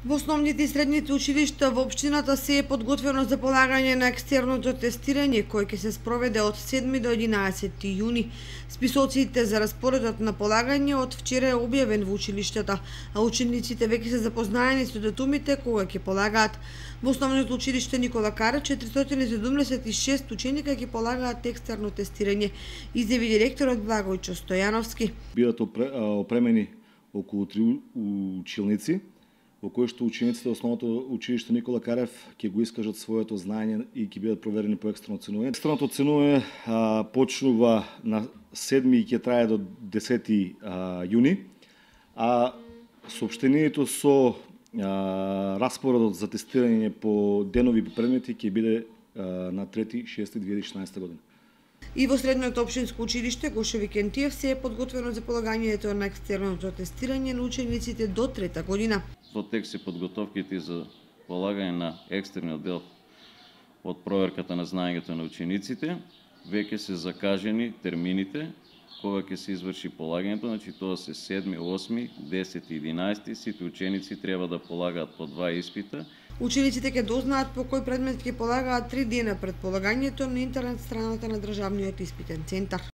Во основните и средните училишта во општината се е подготвено за полагање на екстерното тестирање, кој ќе се спроведе од 7 до 11 јуни. Списоците за распоредот на полагање од вчера е објавен во училиштата, а учениците веќе се запознаени со датумите кога ќе полагаат. Во основното училиште Никола Карев 476 ученика ќе полагаат екстерно тестирање, изјави директорот Благојчо Стојановски. Бидат опремени околу 3 училници, во кои што учениците од основното училиште Никола Карев ќе го искажат своето знаење и ќе бидат проверени по екстерно оценување. Екстерното оценување почнува на 7 и ќе трае до 10 јуни, а соопштението со распоредот за тестирање по денови и по предмети ќе биде на 3.6.2016 година. И во средното општинско училиште Гоше Викентиев се е подготвено за полагањето на екстерното тестирање на учениците до 3-та година. Во тек се подготовките за полагање на екстерниот дел од проверката на знаењето на учениците. Веќе се закажени термините кога ќе се изврши полагањето, значи тоа се 7, 8, 10 и 11. Сите ученици треба да полагаат по 2 испита. Учениците ќе дознаат по кој предмет ќе полагаат 3 дена пред полагањето на интернет страната на Државниот испитен центар.